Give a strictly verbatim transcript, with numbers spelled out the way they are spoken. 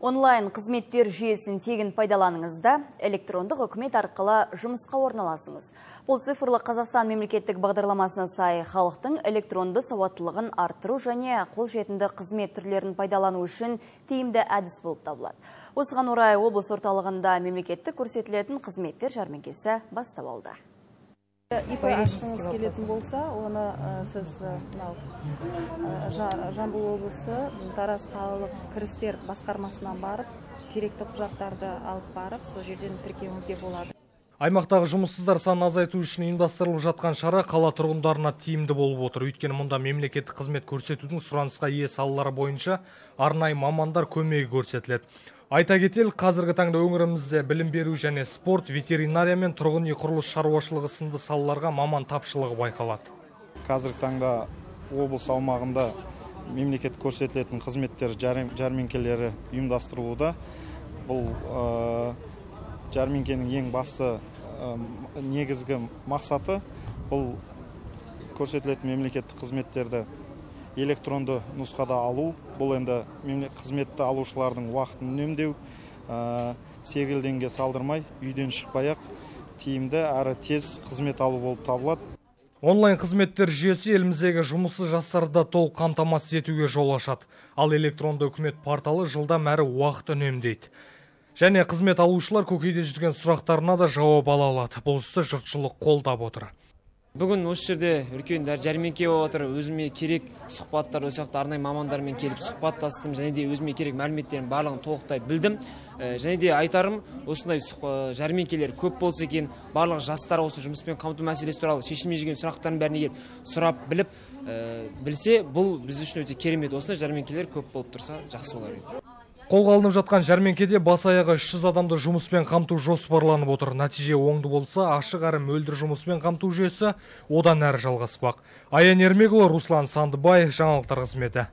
Онлайн қызметтер жүйесін тегін пайдаланыңызда, электрондық үкімет арқылы жұмысқа орналасыңыз. Бұл цифрлы Қазақстан мемлекеттік бағдарламасына сай халықтың электронды сауаттылығын арттыру және қолжетімді қызмет түрлерін пайдалану үшін тиімді әдіс болып табылады. Осыған орай облыс орталығында мемлекеттік көрсетілетін қызметтер жәрмеңкесі бастап алды. ИП ашқыңыз келетін болса, оны сіз Жамбыл облысы Тараз қалалық кірістер басқармасынан барып, керекті құжаттарды алып барып, сол жерден тіркеуіңізге болады. Аймақтағы жұмыссыздар санын азайту үшін ұйымдастырылып жатқан шара қала тұрғындарына тиімді болып отыр. Өйткені мұнда мемлекеттік қызмет көрсетудің сұранысқа ие салалары бойынша арнайы мамандар көмегі көрсетіледі. Айта кетелік, қазіргі таңда өңірімізде білім беру және спорт, ветеринария мен тұрғын үй құрылыс шаруашылығы сынды салаларға маман тапшылығы байқалады. Қазіргі таңда облыс аумағында мемлекет көрсетілетін қызметтер жәрмеңкелері ұйымдастырылуда. Бұл жәрмеңкенің ең басты негізгі мақсаты бұл көрсетілетін мемлекеттік қызметтерді электронды нұсқада алу, бұл енді қызметті алушылардың уақытын үнемдеу, сегілденге салдырмай, үйден шықпай-ақ тиімді әрі тез қызмет алу болып табылады. Онлайн қызметтер жүйесі еліміздегі жұмыссыз жастарды толық қамтамасыз етуге жол ашады. Ал электронды үкімет порталы жылдам әрі уақыт үнемдейді. Және қызмет алушылар көкейде жүрген сұрақтарына да жауап ала алады. Бұл істі жұртшылық қолдап отыр. Бүгін осы жерде үлкен жәрмеңке болып отыр. Өзіме керек сұхбаттар, осы жақта арнайы мамандармен келіп сұхбаттастым, және де өзіме керек мәліметтерін барлығын толықтай білдім. Және де айтарым, осындай жәрмеңкелер көп болса екен, барлық жастар осы жұмыспен қамту мәселесі туралы шешілмей жүрген сұрақтарын бәріне келіп сұрап біліп білсе, бұл біз үшін өте керемет. Осындай жәрмеңкелер көп болып тұрса, жақсы болар еді. Қолға алынып жатқан жәрмеңкеде бас аяғы үш жүз адамды жұмыспен қамту жоспарланып отыр. Нәтиже оңды болса, ашық әрі мөлдір жұмыспен қамту жүйесі одан әрі жалғаспақ. Аян Ермекұлы, Руслан Сандыбай, жаңалықтар қызметі.